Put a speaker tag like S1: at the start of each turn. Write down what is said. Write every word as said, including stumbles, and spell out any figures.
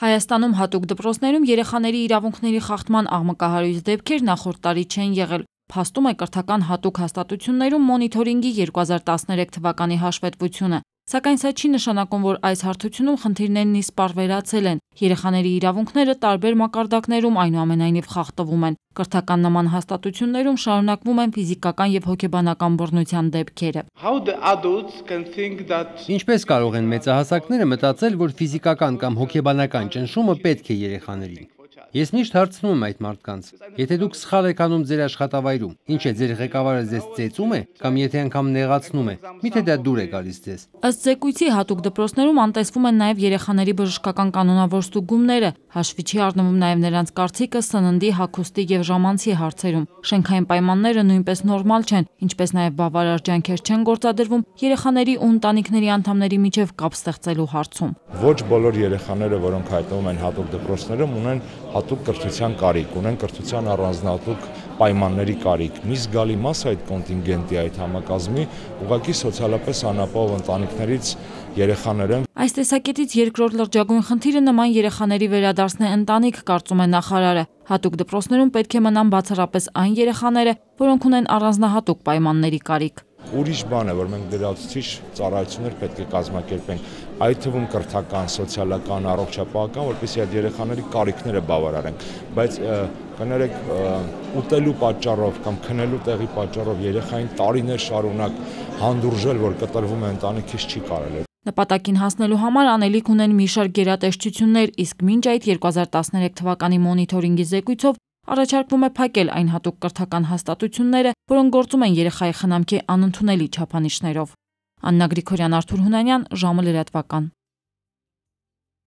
S1: Հայաստանում հատուկ դպրոցներում երեխաների իրավունքների խախտման աղմկահարույց դեպքեր նախորդ տարի չեն եղել, փաստում է կրթական հատուկ հաստատություններում մոնիթորինգի երկու հազար տասներեք թվականի հաշվետվությունը, սակայն սա չի նշանակում, որ այս հարթությունում խնդիրներն իսպառ վերացել են, երեխաների իրավունքները տարբեր մակարդակներում այնուամենայնիվ խախտվում են, կրթական նման հաստատություններում շարունակվում են ֆիզիկական և հոգեբանական բռնության դեպքերը։
S2: Ինչպես կարող են մեծահասակները մտածել, որ ֆիզիկական կամ հոգեբանական ճնշումը պետք է երեխաներին։ Ես միշտ հարցնում եմ այդ մարդկանց, եթե դուք սխալ եք անում ձեր աշխատավայրում, ինչ է ձեր ղեկավարը ձեզ ծեծում է կամ եթե անգամ նեղացնում է, միթե դա դուր է գալիս ձեզ։
S1: Ըստ զեկույցի հատուկ դպրոցներում անտեսվում են նաև երեխաների բժշկական կանոնավոր ստուգումները, հաշվի չի առնվում նաև նրանց կարծիքը սննդի, հագուստի և ժամանցի հարցերում։ Շենքային պայմանները նույնպես նորմալ չեն, ինչպես նաև բավարար ջանքեր չեն գործադրվում երեխաների ու ընտանիքների անդամների միջև կապ ստեղծելու հարցում։
S3: Ոչ բոլոր երեխաները, որոնք հայտնվում են հատուկ դպրոցներում, ունեն հատուկ կրթության կարիք, ունեն կրթության առանձնահատուկ պայմանների կարիք։ Մի զգալի մաս այդ կոնտինգենտի, այդ համակազմի ուղղակի սոցիալապես անապահով ընտանիքներից երեխաներ են։
S1: Այս տեսակետից երկրորդ լրջագույն խնդիրը նման երեխաների վերադարձն է ընտանիք, կարծում է նախարարը։ Հատուկ դպրոցներում պետք է մնան բացառապես այն երեխաները, որոնք ունեն առանձնահատուկ պայմանների կարիք։
S3: Ուրիշ բան է, որ մենք լրացուցիչ ծառայություններ պետք է կազմակերպենք, այդ թվում կրթական, սոցիալական, առողջապահական, որպեսզի այդ երեխաների կարիքները բավարարենք, բայց կներեք, ուտելու պատճառով կամ քնելու տեղի պատճառով երեխային տարիներ շարունակ հանդուրժել, որ կտրվում է ընտանիքից, չի կարելի։
S1: Նպատակին հասնելու համար անելիք ունեն մի շարք գերատեսչություններ, իսկ մինչ այդ երկու հազար տասներեք թվականի մոնիթորինգի զեկույցով առաջարկվում է փակել այն հատուկ կրթական հաստատությունները, որոնք գործում են երեխայի խնամքի անընդունելի չափանիշներով։ Աննա Գրիգորյան, Արթուր Հունանյան, ժամը լրատվական։